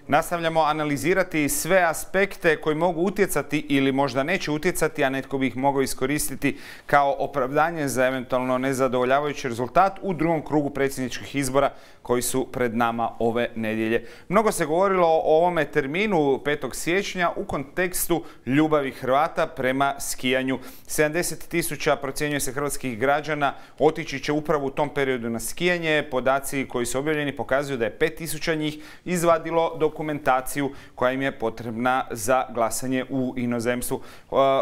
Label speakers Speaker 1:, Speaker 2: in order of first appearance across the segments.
Speaker 1: Nastavljamo analizirati sve aspekte koji mogu utjecati ili možda neće utjecati, a netko bi ih mogao iskoristiti kao opravdanje za eventualno nezadovoljavajući rezultat u drugom krugu predsjedničkih izbora koji su pred nama ove nedjelje. Mnogo se govorilo o ovome terminu 5. siječnja u kontekstu ljubavi Hrvata prema skijanju. 70.000 procjenjuje se hrvatskih građana otići će upravo u tom periodu na skijanje. Podaci koji su objavljeni pokazuju da je 5.000 njih izvadilo dokumentaciju koja im je potrebna za glasanje u inozemstvu.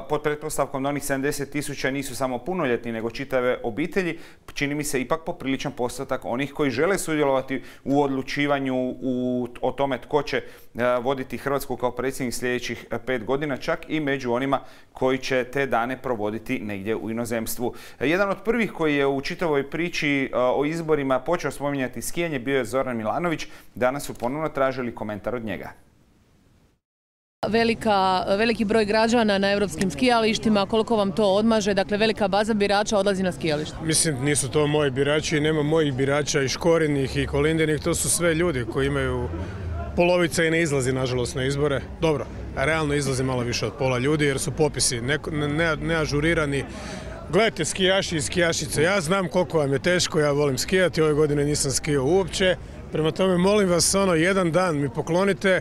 Speaker 1: Pod pretpostavkom da onih 70.000 nisu samo punoljetni nego čitave obitelji, čini mi se ipak popriličan postotak onih koji žele sudjelovati u odlučivanju o tome tko će voditi Hrvatsku kao predsjednik sljedećih 5 godina, čak i među onima koji će te dane provoditi negdje u inozemstvu. Jedan od prvih koji je u čitavoj priči o izborima počeo spominjati skijanje bio je Zoran Milanović. Danas su ponovno tražili komentar od njega.
Speaker 2: Veliki broj građana na europskim skijalištima, koliko vam to odmaže? Dakle, velika baza birača odlazi na skijalište.
Speaker 3: Mislim, nisu to moji birači, nema mojih birača i Škorinih i Kolindinih, to su sve ljudi koji imaju polovica i ne izlazi, nažalost, na izbore. Dobro, realno izlazi malo više od pola ljudi jer su popisi neažurirani. Gledajte, skijaši i skijašice, ja znam koliko vam je teško, ja volim skijati, ove godine nisam skijao uopće. Prema tome, molim vas, jedan dan mi poklonite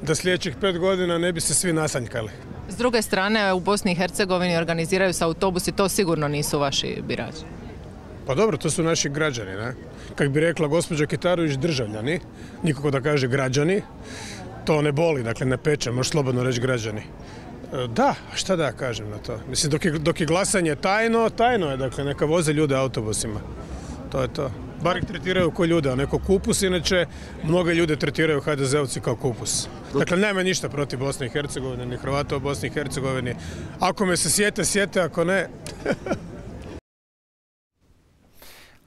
Speaker 3: da sljedećih 5 godina ne bi se svi nasanjkali.
Speaker 2: S druge strane, u Bosni i Hercegovini organiziraju se autobusi, to sigurno nisu vaši birači.
Speaker 3: Pa dobro, to su naši građani, ne? Kako bi rekla gospođa Kitarović, državljani, nikako da kaže građani, to ne boli, dakle ne peče, možeš slobodno reći građani. Da, šta da kažem na to? Mislim, dok je glasanje tajno je, dakle neka voze ljude autobusima. To je to. Bar ih tretiraju kao ljude, a neko kupus, inače mnoge ljude tretiraju HDZ-ovci kao kupus. Dakle, nema ništa protiv Bosne i Hercegovine, ni Hrvata u Bosni i Hercegovini. Ako me se sjete, ako ne...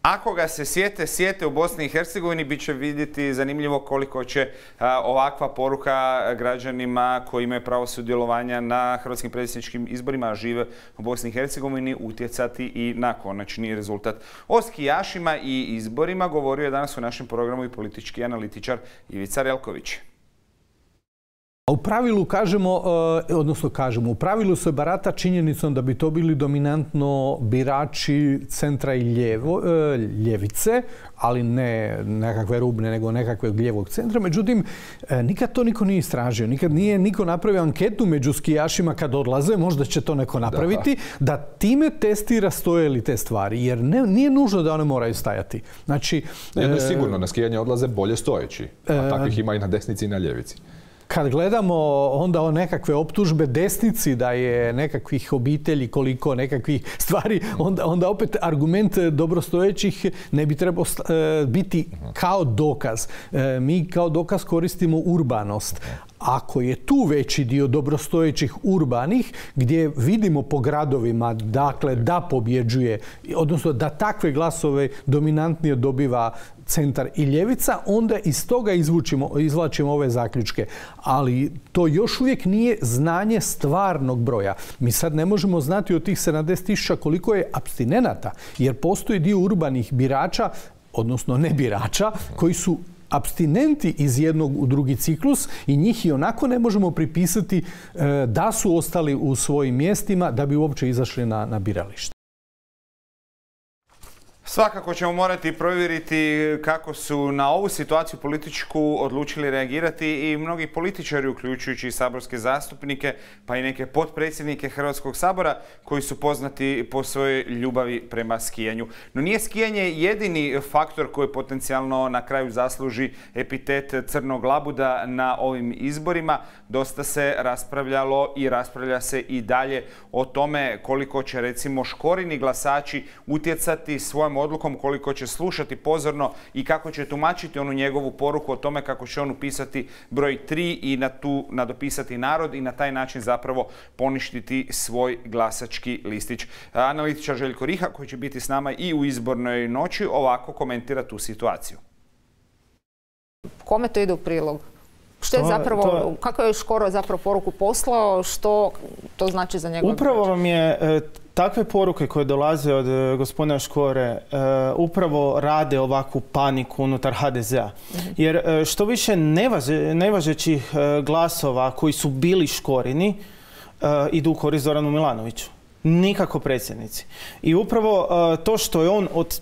Speaker 1: Ako ga se sjete u Bosni i Hercegovini, bit će vidjeti zanimljivo koliko će ovakva poruka građanima koji imaju pravo sudjelovanja na hrvatskim predsjedničkim izborima, a žive u Bosni i Hercegovini, utjecati i na konačni rezultat. O skijašima i izborima govorio je danas u našem programu i politički analitičar Ivica Relković.
Speaker 4: U pravilu u pravilu se barata činjenicom da bi to bili dominantno birači centra i ljevice, ali ne nekakve rubne, nego nekakvog lijevog centra. Međutim, nikad to niko nije istražio. Nikad nije niko napravio anketu među skijašima kad odlaze, možda će to neko napraviti, da time testira stoje li te stvari. Jer nije nužno da one moraju stajati. Znači,
Speaker 5: jedno je sigurno, na skijanje odlaze bolje stojeći, a takvih ima i na desnici i na ljevici.
Speaker 4: Kad gledamo onda o nekakve optužbe desnici da je nekakvih obitelji koliko nekakvih stvari, onda opet argument dobrostojećih ne bi trebao biti kao dokaz. Mi kao dokaz koristimo urbanost. Ako je tu veći dio dobrostojećih urbanih, gdje vidimo po gradovima, dakle, da pobjeđuje, odnosno da takve glasove dominantnije dobiva centar i ljevica, onda iz toga izvlačimo ove zaključke. Ali to još uvijek nije znanje stvarnog broja. Mi sad ne možemo znati od tih 70.000 koliko je apstinenata, jer postoji dio urbanih birača, odnosno ne birača, koji su apstinenti iz jednog u drugi ciklus i njih i onako ne možemo pripisati da su ostali u svojim mjestima da bi uopće izašli na biralište.
Speaker 1: Svakako ćemo morati provjeriti kako su na ovu situaciju političku odlučili reagirati i mnogi političari, uključujući i saborske zastupnike, pa i neke potpredsjednike Hrvatskog sabora koji su poznati po svojoj ljubavi prema skijanju. No nije skijanje jedini faktor koji potencijalno na kraju zasluži epitet crnog labuda na ovim izborima. Dosta se raspravljalo i raspravlja se i dalje o tome koliko će recimo Škorini glasači utjecati svojom odlukom, koliko će slušati pozorno i kako će tumačiti onu njegovu poruku o tome kako će on upisati broj 3 i nadopisati narod i na taj način zapravo poništiti svoj glasački listić. Analitičar Željko Riha, koji će biti s nama i u izbornoj noći, ovako komentira tu situaciju.
Speaker 6: Kome to ide u prilog? Što je zapravo, kako je Škoro zapravo poruku poslao, što to znači za njegov
Speaker 7: Upravo vam je takve poruke koje dolaze od gospodina Škore upravo rade ovakvu paniku unutar HDZ-a. Jer što više nevažećih glasova koji su bili Škorini idu u korist Zoranu Milanoviću. Nikako predsjednici. I upravo to što je on od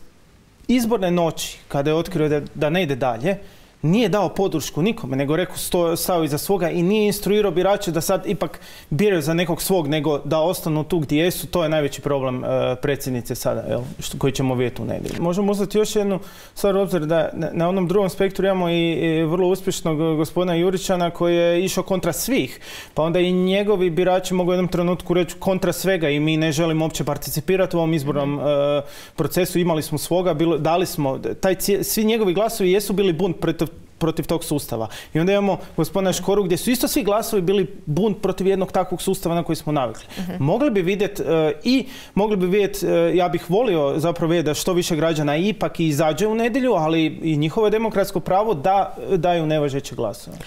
Speaker 7: izborne noći, kada je otkrio da ne ide dalje, nije dao podršku nikome, nego rekao stao iza svoga i nije instruirao birače da sad ipak biraju za nekog svog, nego da ostanu tu gdje jesu. To je najveći problem predsjednice sada, koji ćemo vidjeti u nedjelju. Možemo uzeti još jednu stvar u obzir da na onom drugom spektru imamo i vrlo uspješnog gospodina Juričana koji je išao kontra svih. Pa onda i njegovi birači mogu u jednom trenutku reći kontra svega i mi ne želimo uopće participirati u ovom izbornom procesu. Imali smo svoga, dali smo, svi njegovi glasovi jesu bili bunt protiv tog sustava. I onda imamo gospodina Škoru gdje su isto svi glasovi bili bunt protiv jednog takvog sustava na koji smo navikli. Mogli bi vidjeti ja bih volio zapravo vidjeti da što više građana ipak izađe u nedjelju, ali i njihovo je demokratsko pravo da daju nevažeće glasove.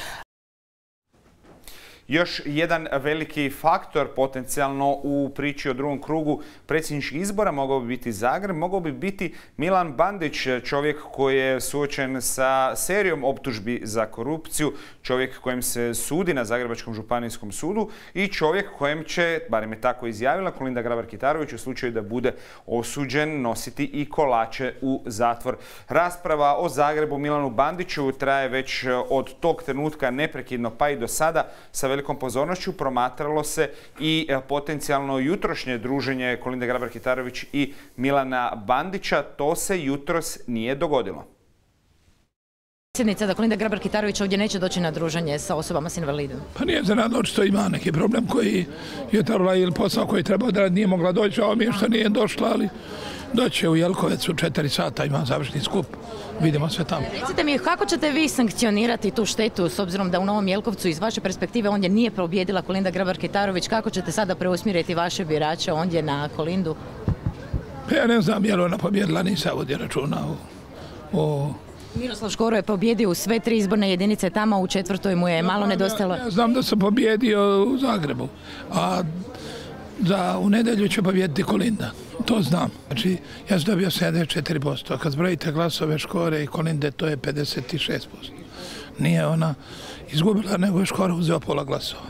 Speaker 1: Još jedan veliki faktor potencijalno u priči o drugom krugu predsjedničkih izbora mogao bi biti Zagreb, mogao bi biti Milan Bandić, čovjek koji je suočen sa serijom optužbi za korupciju, čovjek kojem se sudi na Zagrebačkom županijskom sudu i čovjek kojem će, barem je tako izjavila Kolinda Grabar-Kitarović, u slučaju da bude osuđen, nositi i kolače u zatvor. Rasprava o Zagrebu Milanu Bandiću traje već od tog trenutka neprekidno pa i do sada. Sa velikom pozornošću promatralo se i potencijalno jutrošnje druženje Kolinde Grabar-Kitarović i Milana Bandića. To se jutros nije dogodilo.
Speaker 8: Predsjednica da Kolinda Grabar-Kitarović ovdje neće doći na druženje sa osobama s invalidom.
Speaker 9: Pa nije za rad, očito ima neki problem koji je trebala ili posao koji treba da nije mogla doći, a mi je što nije došla, ali doće u Jelkovec u 4 sata, ima završni skup. Vidimo sve tamo.
Speaker 8: Recite mi, kako ćete vi sankcionirati tu štetu s obzirom da u Novom Jelkovcu iz vaše perspektive ondje nije pobjedila Kolinda Grabar-Kitarović? Kako ćete sada preusmjeriti vaše birače ondje na Kolindu?
Speaker 9: Pa ja ne znam je li ona pobjedila, nisam vodio računa o...
Speaker 8: Miroslav Škoro je pobjedio u sve 3 izborne jedinice tamo, u 4. mu je malo nedostalo.
Speaker 9: Ja znam da sam pobjedio u Zagrebu, a u nedjelju će pobjediti Kolinda. To znam. Znači, ja sam dobio 74%, a kad zbrojite glasove Škore i Kolinde, to je 56%. Nije ona izgubila, nego je Škoro uzeo pola glasova.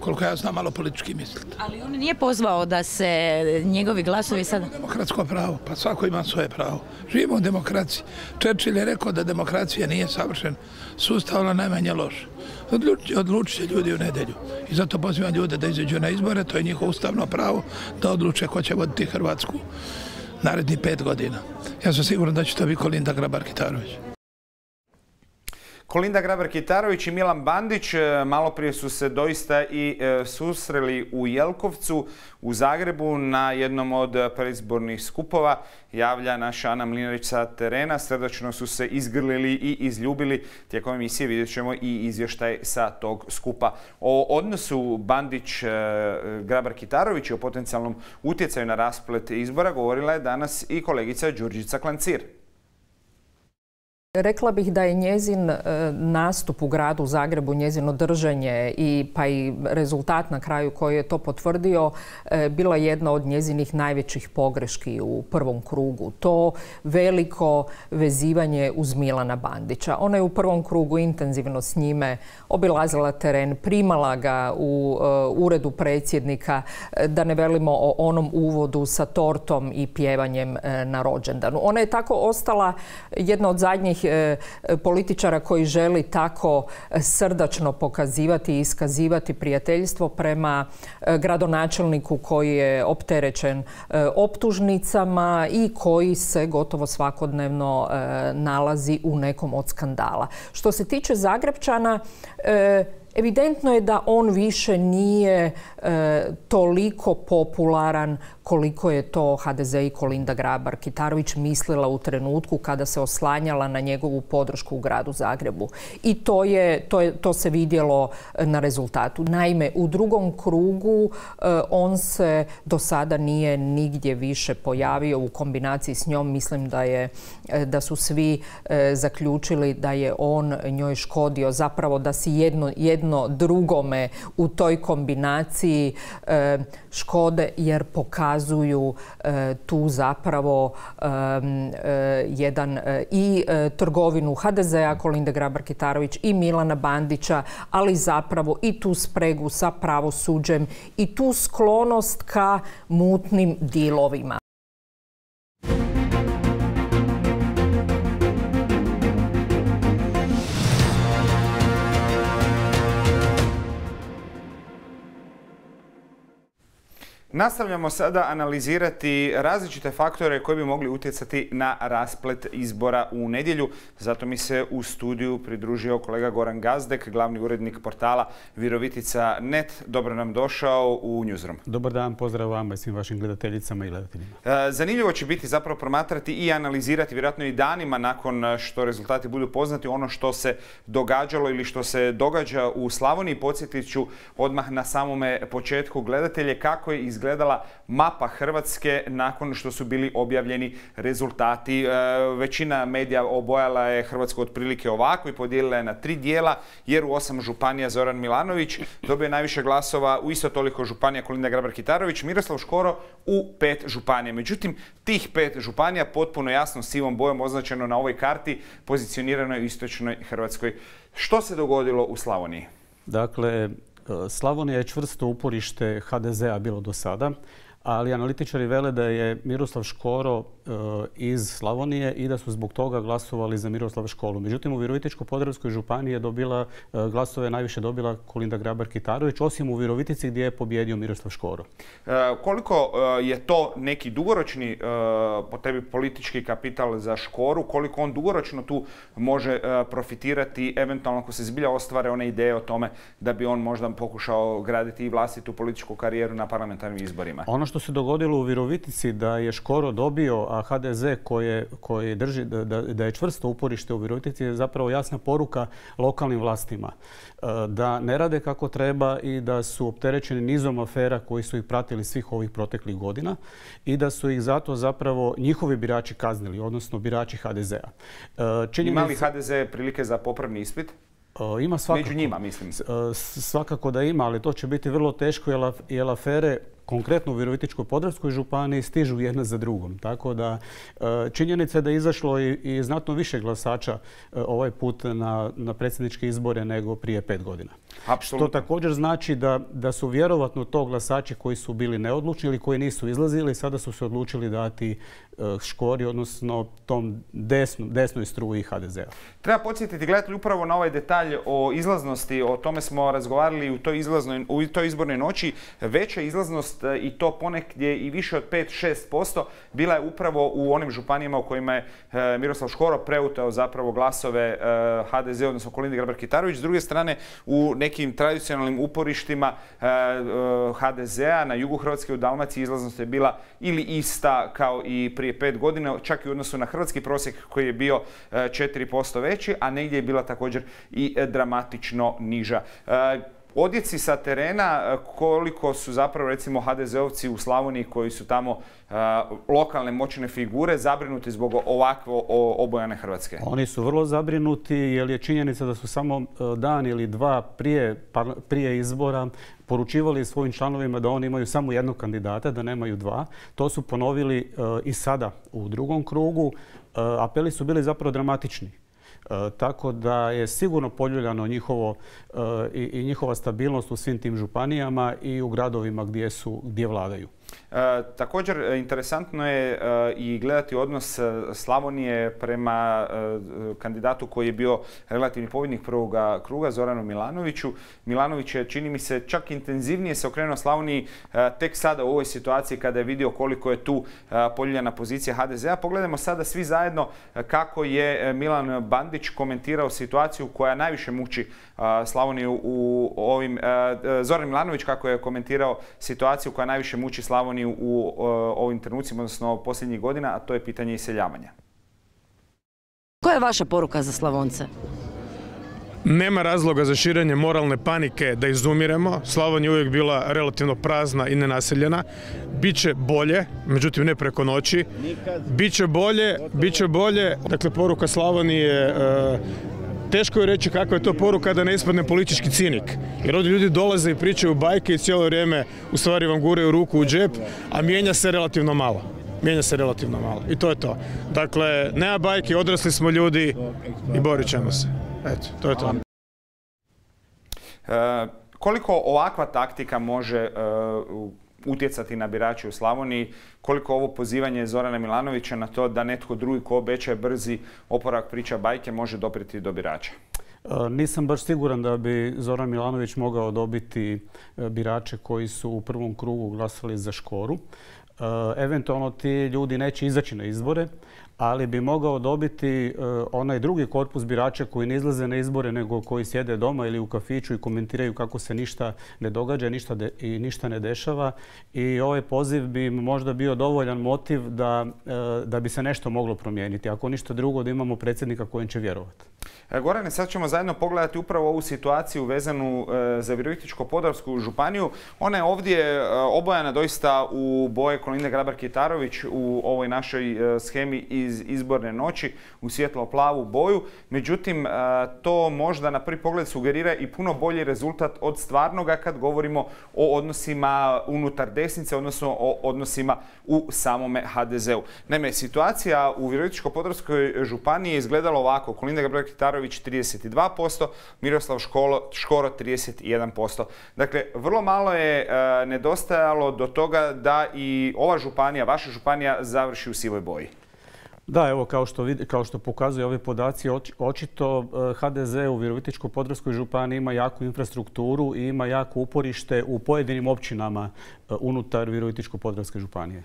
Speaker 9: Koliko ja znam, malo politički misliti.
Speaker 8: Ali on nije pozvao da se njegovi glasovi sada...
Speaker 9: Demokratsko pravo, pa svako ima svoje pravo. Živimo u demokraciji. Churchill je rekao da demokracija nije savršen sustav, ali najmanje loš. Odlučit će ljudi u nedjelju. I zato pozivam ljude da izađu na izbore, to je njihovo ustavno pravo da odluče ko će voditi Hrvatsku narednih 5 godina. Ja sam siguran da će to biti Kolinda Grabar-Kitarović.
Speaker 1: Kolinda Grabar-Kitarović i Milan Bandić malo prije su se doista i susreli u Jelkovcu u Zagrebu na jednom od predizbornih skupova. Javlja naša Ana Mlinarić sa terena. Srdačno su se izgrlili i izljubili. Tijekom emisije vidjet ćemo i izvještaj sa tog skupa. O odnosu Bandić-Grabar-Kitarović i o potencijalnom utjecaju na rasplet izbora govorila je danas i kolegica Đurđica Klancir.
Speaker 6: Rekla bih da je njezin nastup u gradu Zagrebu, njezino držanje pa i rezultat na kraju koji je to potvrdio, bila jedna od njezinih najvećih pogreški u prvom krugu. To veliko vezivanje uz Milana Bandića. Ona je u prvom krugu intenzivno s njime obilazila teren, primala ga u uredu predsjednika, da ne velimo o onom uvodu sa tortom i pjevanjem na rođendanu. Ona je tako ostala jedna od zadnjih političara koji želi tako srdačno pokazivati i iskazivati prijateljstvo prema gradonačelniku koji je opterećen optužnicama i koji se gotovo svakodnevno nalazi u nekom od skandala. Što se tiče Zagrepčana, evidentno je da on više nije toliko popularan koliko je to HDZ i Kolinda Grabar-Kitarović mislila u trenutku kada se oslanjala na njegovu podršku u gradu Zagrebu. I to se vidjelo na rezultatu. Naime, u drugom krugu on se do sada nije nigdje više pojavio u kombinaciji s njom. Mislim da su svi zaključili da je on njoj škodio, zapravo da si jedno drugome u toj kombinaciji škode jer pokazuju tu zapravo jedan i trgovinu HDZ-a Kolinde Grabar-Kitarović i Milana Bandića, ali zapravo i tu spregu sa pravosuđem i tu sklonost ka mutnim dilovima.
Speaker 1: Nastavljamo sada analizirati različite faktore koji bi mogli utjecati na rasplet izbora u nedjelju. Zato mi se u studiju pridružio kolega Goran Gazdek, glavni urednik portala Virovitica.net. Dobro nam došao u Newsroom.
Speaker 10: Dobar dan, pozdrav vama i svim vašim gledateljicama i gledateljima.
Speaker 1: Zanimljivo će biti zapravo promatrati i analizirati vjerojatno i danima nakon što rezultati budu poznati ono što se događalo ili što se događa u Slavoniji. Podsjetit ću odmah na samome početku gledatelje kako je izgledala mapa Hrvatske nakon što su bili objavljeni rezultati. Većina medija obojala je Hrvatsku otprilike ovako i podijelila je na 3 dijela, jer u 8 županija Zoran Milanović dobio najviše glasova, u isto toliko županija Kolinda Grabar-Kitarović, Miroslav Škoro u 5 županija. Međutim, tih 5 županija potpuno jasno sivom bojom označeno na ovoj karti pozicionirano je u istočnoj Hrvatskoj. Što se dogodilo u Slavoniji?
Speaker 10: Dakle, Slavonija je čvrsto uporište HDZ-a bilo do sada, ali analitičari vele da je Miroslav Škoro iz Slavonije i da su zbog toga glasovali za Miroslava Škoru. Međutim, u Virovitičko-podravskoj županiji je dobila glasove, najviše dobila Kolinda Grabar-Kitarović, osim u Virovitici gdje je pobjedio Miroslav Škoro.
Speaker 1: Koliko je to neki dugoročni po tebi politički kapital za Škoru, koliko on dugoročno tu može profitirati, eventualno ako se zbilja ostvare one ideje o tome da bi on možda pokušao graditi i vlastitu političku karijeru na parlamentarnim izborima?
Speaker 10: Ono što se dogodilo u Virovitici da je Škoro dobio, a HDZ koji drži da je čvrsto uporište u Virovitici je zapravo jasna poruka lokalnim vlastima da ne rade kako treba i da su opterećeni nizom afera koji su ih pratili svih ovih proteklih godina i da su ih zato zapravo njihovi birači kaznili, odnosno birači HDZ-a.
Speaker 1: Ima li HDZ prilike za popravni ispit?
Speaker 10: Ima svakako.
Speaker 1: Među njima, mislim.
Speaker 10: Svakako da ima, ali to će biti vrlo teško jer afere konkretno u Virovitičko-podravskoj županiji stižu jedna za drugom. Tako da činjenica je da je izašlo i znatno više glasača ovaj put na predsjedničke izbore nego prije 5 godina.
Speaker 1: Apsolutno.
Speaker 10: Što također znači da su vjerovatno to glasači koji su bili neodlučni ili koji nisu izlazili, sada su se odlučili dati Škori, odnosno tom desnoj struji HDZ-a.
Speaker 1: Treba podsjetiti gledatelji upravo na ovaj detalj o izlaznosti, o tome smo razgovarali u toj izbornoj noći. Veća izlaznost i to ponegdje i više od 5-6% bila je upravo u onim županijama u kojima je Miroslav Škoro preuteo zapravo glasove HDZ, odnosno Kolinde Grabar-Kitarović. S druge strane, u nekim tradicionalnim uporištima HDZ-a na jugu Hrvatske u Dalmaciji izlaznost je bila ili ista kao i prije 5 godina, čak i u odnosu na hrvatski prosjek koji je bio 4% veći, a negdje je bila također i dramatično niža. Odjeci sa terena, koliko su zapravo recimo HDZ-ovci u Slavoniji koji su tamo lokalne moćne figure zabrinuti zbog ovakvo obojane Hrvatske?
Speaker 10: Oni su vrlo zabrinuti jer je činjenica da su samo dan ili dva prije izbora poručivali svojim članovima da oni imaju samo jednog kandidata, da nemaju dva. To su ponovili i sada u drugom krugu. Apeli su bili zapravo dramatični. Tako da je sigurno poljuljano njihova stabilnost u svim tim županijama i u gradovima gdje vladaju.
Speaker 1: Također, interesantno je i gledati odnos Slavonije prema kandidatu koji je bio relativni pobjednik prvoga kruga, Zoranu Milanoviću. Milanović je, čini mi se, čak intenzivnije se okrenuo Slavoniji tek sada u ovoj situaciji kada je vidio koliko je tu poljuljana pozicija HDZ-a. Pogledajmo sada svi zajedno kako je Milan Bandić komentirao situaciju koja najviše muči Slavoniju u ovim... Zoran Milanović kako je komentirao situaciju koja najviše muči Slavoniju u ovim trenucima, odnosno posljednjih godina, a to je pitanje iseljavanja.
Speaker 8: Koja je vaša poruka za Slavonce?
Speaker 3: Nema razloga za širenje moralne panike da izumiremo. Slavonija je uvijek bila relativno prazna i nenaseljena. Biće bolje, međutim ne preko noći. Biće bolje. Dakle, poruka Slavonije teško je reći kakva je to poruka da ne ispadne politički cinik. Jer ovdje ljudi dolaze i pričaju bajke i cijelo vrijeme u stvari vam guraju ruku u džep, a mijenja se relativno malo. I to je to. Dakle, nema bajke, odrasli smo ljudi i borit ćemo se. Eto, to je to.
Speaker 1: Koliko ovakva taktika može utjecati na birače u Slavoniji, koliko ovo pozivanje Zorana Milanovića na to da netko drugi ko obećaje brzi oporavak priča bajke može doprijeti do birača?
Speaker 10: Nisam baš siguran da bi Zoran Milanović mogao dobiti birače koji su u prvom krugu glasali za Škoru. Eventualno ti ljudi neće izaći na izbore, ali bi mogao dobiti onaj drugi korpus birača koji ne izlaze na izbore nego koji sjede doma ili u kafiću i komentiraju kako se ništa ne događa i ništa ne dešava. I ovaj poziv bi možda bio dovoljan motiv da bi se nešto moglo promijeniti. Ako ništa drugo, da imamo predsjednika kojem će vjerovati.
Speaker 1: Gorane, sad ćemo zajedno pogledati upravo ovu situaciju vezanu za Virovitičko-podravsku županiju. Ona je ovdje obojana doista u boje Kolinde Grabar-Kitarović u ovoj našoj shemi iz izborne noći, u svjetlo-plavu boju. Međutim, to možda na prvi pogled sugerira i puno bolji rezultat od stvarnoga kad govorimo o odnosima unutar desnice, odnosno o odnosima u samome HDZ-u. Naime, situacija u Virovitičko-podravskoj županiji je izgledala ovako. Kolinda Grabar-Kitarović 32%, Miroslav Škoro 31%. Dakle, vrlo malo je nedostajalo do toga da i ova županija, vaša županija, završi u sivoj boji.
Speaker 10: Da, evo, kao što pokazuju ovi podaci, očito HDZ u Virovitičko-podravskoj županiji ima jaku infrastrukturu i ima jako uporište u pojedinim općinama unutar Virovitičko-podravske županije.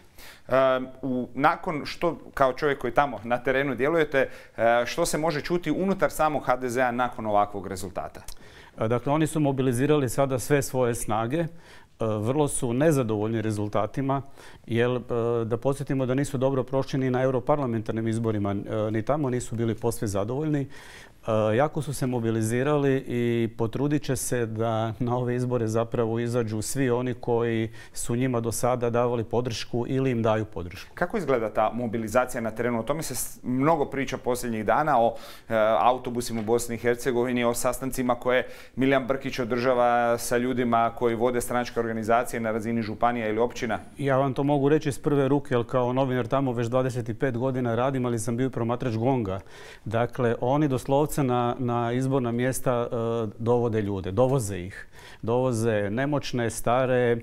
Speaker 1: Nakon što, kao čovjek koji tamo na terenu djelujete, što se može čuti unutar samog HDZ-a nakon ovakvog rezultata?
Speaker 10: Dakle, oni su mobilizirali sada sve svoje snage. Vrlo su nezadovoljni rezultatima, jer da podsjetimo da nisu dobro prošli ni na europarlamentarnim izborima, ni tamo nisu bili posve zadovoljni. Jako su se mobilizirali i potrudit će se da na ove izbore zapravo izađu svi oni koji su njima do sada davali podršku ili im daju podršku.
Speaker 1: Kako izgleda ta mobilizacija na terenu? O tome se mnogo priča posljednjih dana, o autobusima u Bosni i Hercegovini, o sastancima koje Milijan Brkić održava sa ljudima koji vode stranačke organizacije na razini županija ili općina.
Speaker 10: Ja vam to mogu reći iz prve ruke, jer kao novinar tamo već 25 godina radim, ali sam bio promatrač GONG-a. Dakle, oni doslovce na izborna mjesta dovode ljude, dovoze ih. Dovoze nemoćne, stare,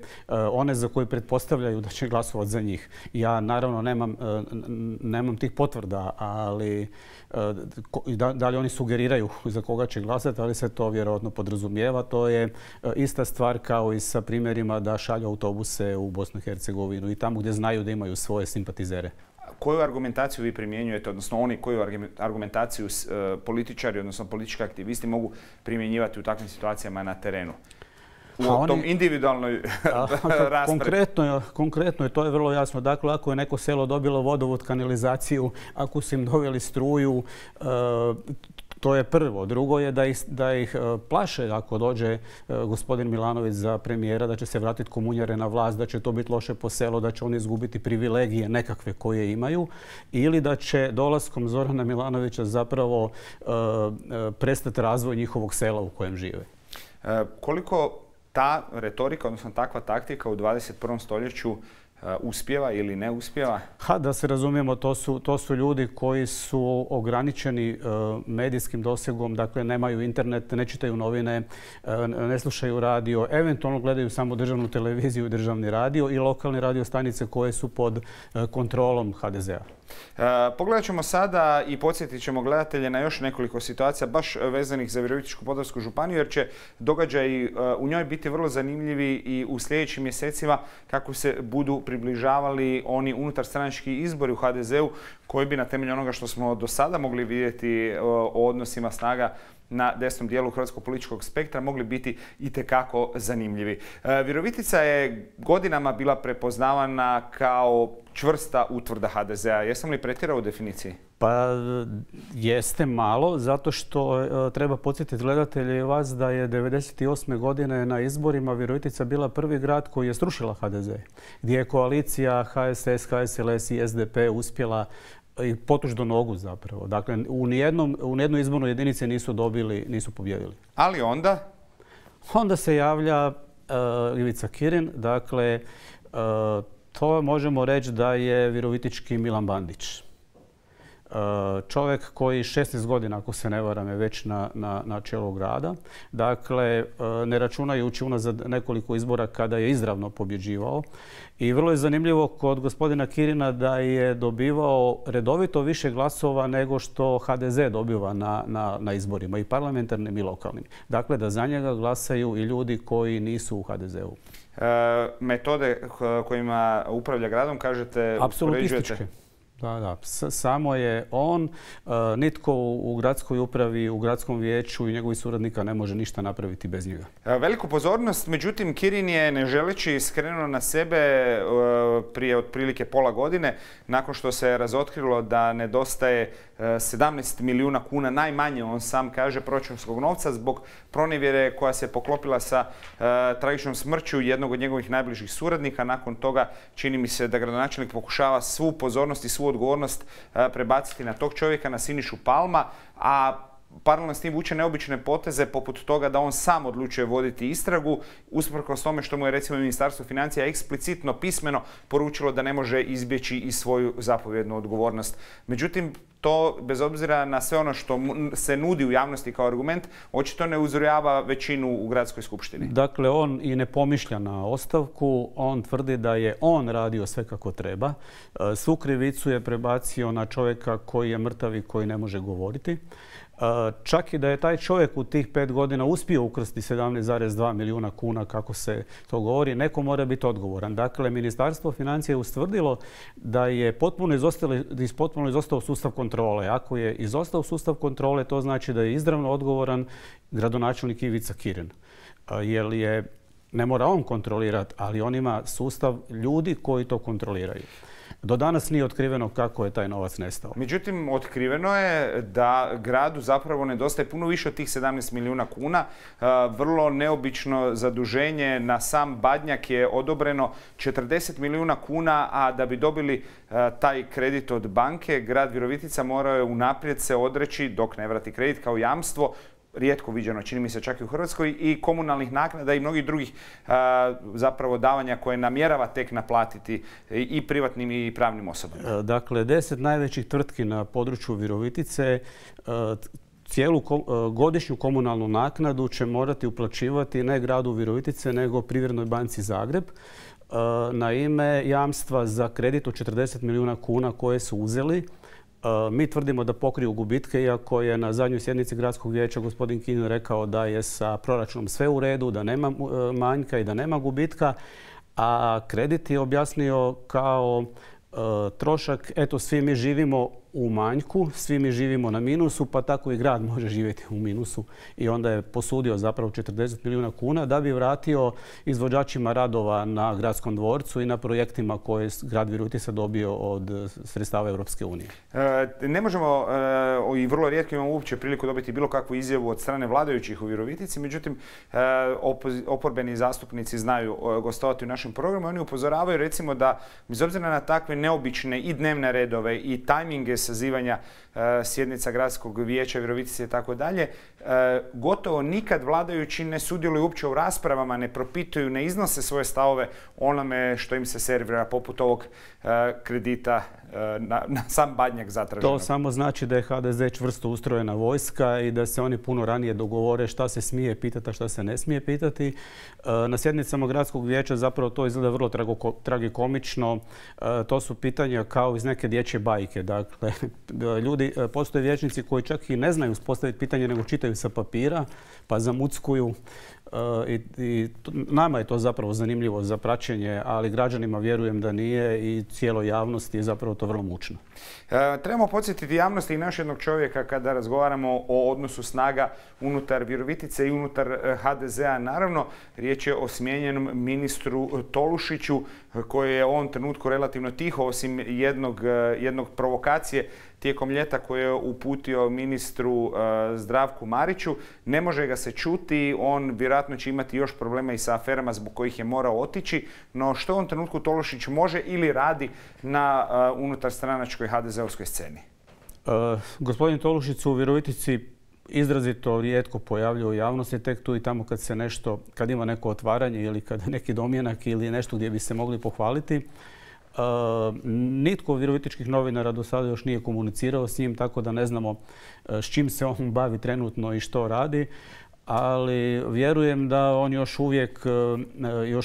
Speaker 10: one za koje pretpostavljaju da će glasovati za njih. Ja naravno nemam tih potvrda, ali da li oni sugeriraju za koga će glasati, ali se to vjerojatno podrazumijeva. To je ista stvar kao i sa primjerima da šalju autobuse u Bosnu i Hercegovinu i tamo gdje znaju da imaju svoje simpatizere.
Speaker 1: Koju argumentaciju vi primjenjujete, odnosno oni koju argumentaciju političari, odnosno politički aktivisti mogu primjenjivati u takvim situacijama na terenu? U tom individualnoj raspravi.
Speaker 10: Konkretno je, to je vrlo jasno. Dakle, ako je neko selo dobilo vodovod, kanalizaciju, ako su im doveli struju, to je prvo. Drugo je da ih plaše ako dođe gospodin Milanović za premijera, da će se vratiti komunjare na vlast, da će to biti loše po selu, da će oni izgubiti privilegije nekakve koje imaju ili da će dolaskom Zorana Milanovića zapravo prestati razvoj njihovog sela u kojem žive.
Speaker 1: Koliko ta retorika, odnosno takva taktika u 21. stoljeću uspijeva ili ne uspijeva?
Speaker 10: Da se razumijemo, to su ljudi koji su ograničeni medijskim dosegom, dakle nemaju internet, ne čitaju novine, ne slušaju radio, eventualno gledaju samo državnu televiziju i državni radio i lokalne radio stanice koje su pod kontrolom HDZ-a.
Speaker 1: Pogledat ćemo sada i podsjetit ćemo gledatelje na još nekoliko situacija baš vezanih za Virovitičko-podravsku županiju, jer će događaji u njoj biti vrlo zanimljivi i u sljedećim mjesecima kako se budu približavali oni unutarstranački izbori u HDZ-u koji bi na temelju onoga što smo do sada mogli vidjeti o odnosima snaga na desnom dijelu hrvatskog političkog spektra mogli biti itekako zanimljivi. Virovitica je godinama bila prepoznavana kao čvrsta utvrda HDZ-a. Jesam li pretjerao u definiciji?
Speaker 10: Pa jeste malo, zato što treba podsjetiti gledatelje i vas da je 1998. godine na izborima Virovitica bila prvi grad koji je srušila HDZ, gdje je koalicija HSS, HSLS i SDP uspjela i potuš do nogu zapravo. Dakle, u nijednoj izbornoj jedinici nisu pobjedili.
Speaker 1: Ali onda?
Speaker 10: Onda se javlja Ivica Kirin. Dakle, to možemo reći da je virovitički Milan Bandić. Čovjek koji 16 godina, ako se ne varam, je već na čelu grada. Dakle, ne računajući unazad nekoliko izbora kada je izravno pobjeđivao. I vrlo je zanimljivo kod gospodina Kirina da je dobivao redovito više glasova nego što HDZ dobiva na izborima, i parlamentarnim i lokalnim. Dakle, da za njega glasaju i ljudi koji nisu u HDZ-u.
Speaker 1: Metode kojima upravlja gradom, kažete,
Speaker 10: apsolutističke. Da. Samo je on, nitko u gradskoj upravi, u gradskom vijeću i njegovih suradnika ne može ništa napraviti bez njega.
Speaker 1: Veliku pozornost, međutim, Kirin je, ne želeći, skrenuo na sebe prije otprilike pola godine, nakon što se razotkrilo da nedostaje 17 milijuna kuna, najmanje, on sam kaže, proračunskog novca zbog pronevjere koja se poklopila sa tragičnom smrću jednog od njegovih najbližih suradnika. Nakon toga čini mi se da gradonačelnik pokušava svu pozornost i svu odgovornost prebaciti na tog čovjeka, na Sinišu Palma, a paralelno s tim vuče neobične poteze poput toga da on sam odlučuje voditi istragu, usprkos tome što mu je recimo Ministarstvo financija eksplicitno pismeno poručilo da ne može izbjeći i svoju zapovjednu odgovornost. Međutim, to, bez obzira na sve ono što se nudi u javnosti kao argument, očito ne uzrujava većinu u gradskoj skupštini.
Speaker 10: Dakle, on i ne pomišlja na ostavku, on tvrdi da je on radio sve kako treba. Svu krivicu je prebacio na čovjeka koji je mrtav i koji ne može govoriti. Čak i da je taj čovjek u tih 5 godina uspio ukrasti 17,2 milijuna kuna, kako se to govori, neko mora biti odgovoran. Dakle, Ministarstvo financija je ustvrdilo da je potpuno izostao sustav kontrole. Ako je izostao sustav kontrole, to znači da je izravno odgovoran gradonačelnik Ivica Kirin. Jer ne mora on kontrolirati, ali on ima sustav ljudi koji to kontroliraju. Do danas nije otkriveno kako je taj novac nestao.
Speaker 1: Međutim, otkriveno je da gradu zapravo nedostaje puno više od tih 17 milijuna kuna. Vrlo neobično zaduženje na sam Badnjak je odobreno 40 milijuna kuna, a da bi dobili taj kredit od banke, grad Virovitica morao je unaprijed se odreći, dok ne vrati kredit, kao jamstvo, rijetko viđeno, čini mi se čak i u Hrvatskoj, i komunalnih naknada i mnogih drugih zapravo davanja koje namjerava tek naplatiti i privatnim i pravnim osobama.
Speaker 10: Dakle, 10 najvećih tvrtki na području Virovitice cijelu godišnju komunalnu naknadu će morati uplaćivati ne gradu Virovitice, nego Privrednoj banci Zagreb na ime jamstva za kredit od 40 milijuna kuna koje su uzeli. Mi tvrdimo da pokriju gubitke, iako je na zadnjoj sjednici gradskog vijeća gospodin Kirin rekao da je sa proračunom sve u redu, da nema manjka i da nema gubitka, a kredit je objasnio kao trošak, eto, svi mi živimo u manjku, svi mi živimo na minusu, pa tako i grad može živjeti u minusu. I onda je posudio zapravo 40 milijuna kuna da bi vratio izvođačima radova na gradskom dvorcu i na projektima koje grad Virovitica dobio od sredstava Europske unije.
Speaker 1: Ne možemo i vrlo rijetko imamo uopće priliku dobiti bilo kakvu izjavu od strane vladajućih u Virovitici, međutim oporbeni zastupnici znaju gostovati u našem programu. Oni upozoravaju recimo da bez obzira na takve neobične i dnevne redove i tajminge sazivanja sjednica gradskog vijeća Virovitice i tako dalje, gotovo nikad vladajući ne sudjeluju uopće u raspravama, ne propituju, ne iznose svoje stavove onome što im se servira, poput ovog kredita na sam Badnjak zatraženog.
Speaker 10: To samo znači da je HDZ čvrsto ustrojena vojska i da se oni puno ranije dogovore šta se smije pitati, a šta se ne smije pitati. Na sjednicama gradskog vijeća zapravo to izgleda vrlo tragikomično. To su pitanja kao iz neke dječje bajke. Dakle, postoje vijećnici koji čak i ne znaju postaviti pitanje, nego čitaju sa papira, pa zamuckuju. I nama je to zapravo zanimljivo za praćenje, ali građanima vjerujem da nije i cijeloj javnosti je zapravo to vrlo mučno.
Speaker 1: Trebamo podsjetiti javnosti i naš jednog čovjeka kada razgovaramo o odnosu snaga unutar Virovitice i unutar HDZ-a. Naravno, riječ je o smijenjenom ministru Tolušiću koji je u ovom trenutku relativno tiho, osim jednog provokacije tijekom ljeta koje je uputio ministru Zdravku Mariću. Ne može ga se čuti, on vjerojatno će imati još problema i sa aferama zbog kojih je morao otići, no što u ovom trenutku Tolušić može ili radi na unutarstranačkoj HDZ-ovskoj sceni?
Speaker 10: Gospodin Tolušić se u Virovitici izrazito rijetko pojavljuje u javnosti, tek tu i tamo kad se nešto, kad ima neko otvaranje ili kad neki domjenak ili nešto gdje bi se mogli pohvaliti. Nitko od virovitičkih novinara do sada još nije komunicirao s njim, tako da ne znamo s čim se on bavi trenutno i što radi. Ali vjerujem da on još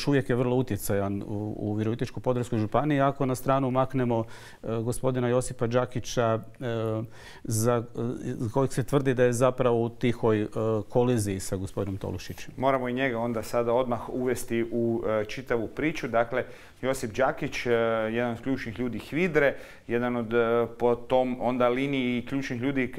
Speaker 10: uvijek je vrlo utjecajan u Virovitičko-podravskoj županiji. Ako na stranu maknemo gospodina Josipa Đakića, za kojeg se tvrdi da je zapravo u tihoj koliziji sa gospodinom Tolušićem.
Speaker 1: Moramo i njega onda sada odmah uvesti u čitavu priču. Dakle, Josip Đakić, jedan od ključnih ljudi HVIDRE, jedan od po tom onda liniji ključnih ljudi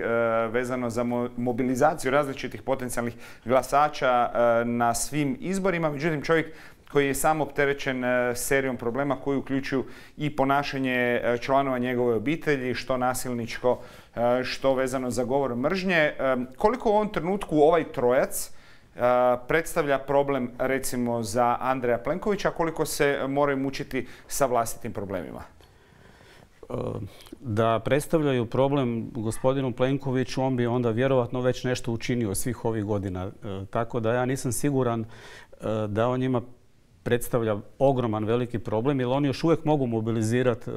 Speaker 1: vezano za mobilizaciju različitih potencijalnih glasača na svim izborima. Međutim, čovjek koji je sam opterećen serijom problema koji uključuju i ponašanje članova njegove obitelji, što nasilničko, što vezano za govor mržnje. Koliko u ovom trenutku ovaj trojac predstavlja problem recimo za Andreja Plenkovića, koliko se moraju mučiti sa vlastitim problemima?
Speaker 10: Da predstavljaju problem gospodinu Plenkoviću, on bi onda vjerovatno već nešto učinio svih ovih godina. Tako da ja nisam siguran da on njima predstavlja ogroman veliki problem, jer oni još uvijek mogu mobilizirati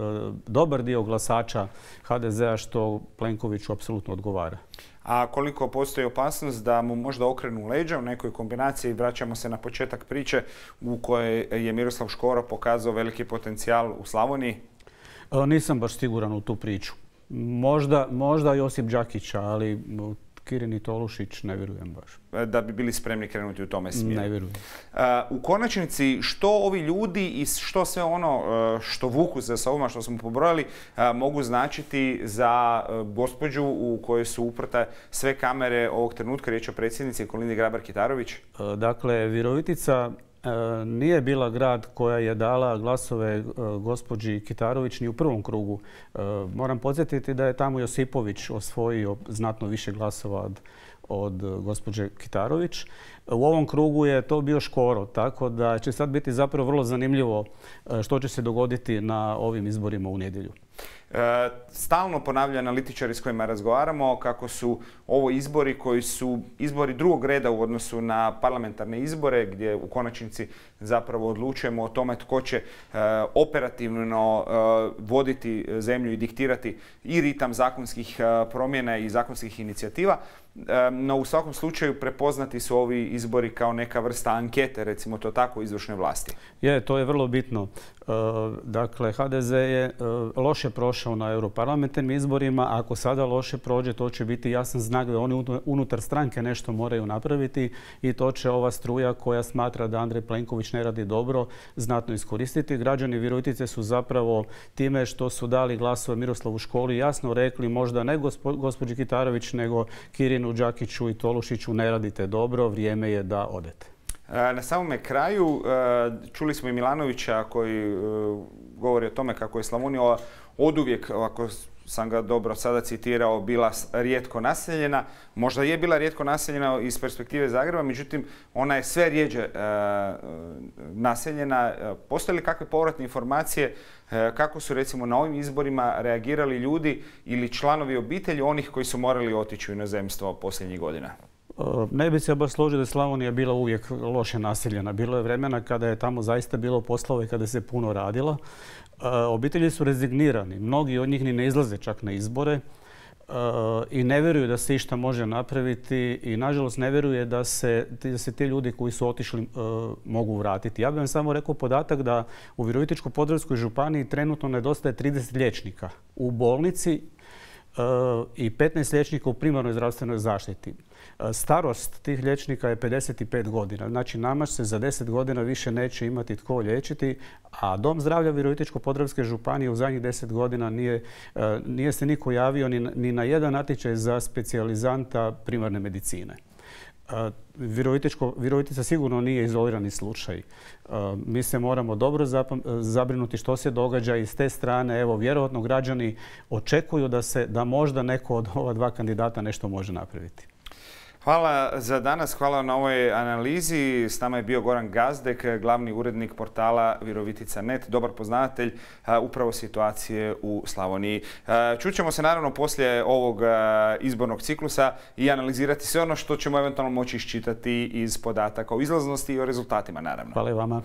Speaker 10: dobar dio glasača HDZ-a, što Plenkoviću apsolutno odgovara.
Speaker 1: A koliko postoji opasnost da mu možda okrenu leđa u nekoj kombinaciji? Vraćamo se na početak priče u kojoj je Miroslav Škoro pokazao veliki potencijal u Slavoniji.
Speaker 10: Nisam baš siguran u tu priču. Možda Josip Đakić, ali Kirin i Tolušić ne vjerujem baš.
Speaker 1: Da bi bili spremni krenuti u tome smjeru.
Speaker 10: Ne vjerujem.
Speaker 1: U konačnici, što ovi ljudi i što sve ono što vuku za sobom, što smo pobrojali, mogu značiti za gospođu u kojoj su uprte sve kamere ovog trenutka, riječ o predsjednici Kolindi Grabar-Kitarović?
Speaker 10: Dakle, Virovitica nije bila grad koja je dala glasove gospođi Kitarović ni u prvom krugu. Moram podsjetiti da je tamo Josipović osvojio znatno više glasova od gospođe Kitarović. U ovom krugu je to bio Škoro, tako da će sad biti zapravo vrlo zanimljivo što će se dogoditi na ovim izborima u nedjelju.
Speaker 1: Stalno ponavljaju analitičari s kojima razgovaramo kako su ovo izbori koji su izbori drugog reda u odnosu na parlamentarne izbore, gdje u konačnici zapravo odlučujemo o tome tko će operativno voditi zemlju i diktirati i ritam zakonskih promjena i zakonskih inicijativa. No u svakom slučaju prepoznati su ovi izbori kao neka vrsta ankete, recimo to tako, izvršne vlasti.
Speaker 10: To je vrlo bitno. Dakle, HDZ je loše prošao na europarlamentarnim izborima. Ako sada loše prođe, to će biti jasan znak da oni unutar stranke nešto moraju napraviti i to će ova struja koja smatra da Andrej Plenković ne radi dobro znatno iskoristiti. Građani Virovitice su zapravo time što su dali glasove Miroslavu Školi jasno rekli možda ne gospođi Kitarović, nego Kirinu, Đakiću i Tolušiću ne radite dobro, vrijeme je da odete.
Speaker 1: Na samome kraju čuli smo i Milanovića koji govori o tome kako je Slavonija oduvijek, ako sam ga dobro sada citirao, bila rijetko naseljena. Možda je bila rijetko naseljena iz perspektive Zagreba, međutim ona je sve rjeđe naseljena. Postoje li kakve povratne informacije kako su recimo na ovim izborima reagirali ljudi ili članovi obitelji onih koji su morali otići u inozemstvo posljednjih godina?
Speaker 10: Ne bi se baš složio da je Slavonija bila uvijek loše naseljena. Bilo je vremena kada je tamo zaista bilo poslova i kada se puno radilo. Obitelji su rezignirani. Mnogi od njih ni ne izlaze čak na izbore i ne vjeruju da se išta može napraviti i nažalost ne vjeruje da se ti ljudi koji su otišli mogu vratiti. Ja bih vam samo rekao podatak da u Virovitičko-podravskoj županiji trenutno nedostaje 30 liječnika u bolnici i 15 liječnika u primarnoj zdravstvenoj zaštiti. Starost tih liječnika je 55 godina. Znači, nama se za 10 godina više neće imati tko liječiti, a Dom zdravlja Virovitičko-podravske županije u zadnjih 10 godina nije se niko javio ni na jedan natječaj za specijalizanta primarne medicine. Virovitica sigurno nije izolirani slučaj. Mi se moramo dobro zabrinuti što se događa i s te strane, evo, vjerojatno građani očekuju da možda neko od ova dva kandidata nešto može napraviti.
Speaker 1: Hvala za danas, hvala na ovoj analizi. S nama je bio Goran Gazdek, glavni urednik portala Virovitica.net, dobar poznavatelj upravo situacije u Slavoniji. Čućemo se naravno poslije ovog izbornog ciklusa i analizirati sve ono što ćemo eventualno moći iščitati iz podataka o izlaznosti i o rezultatima naravno.
Speaker 10: Hvala i vama.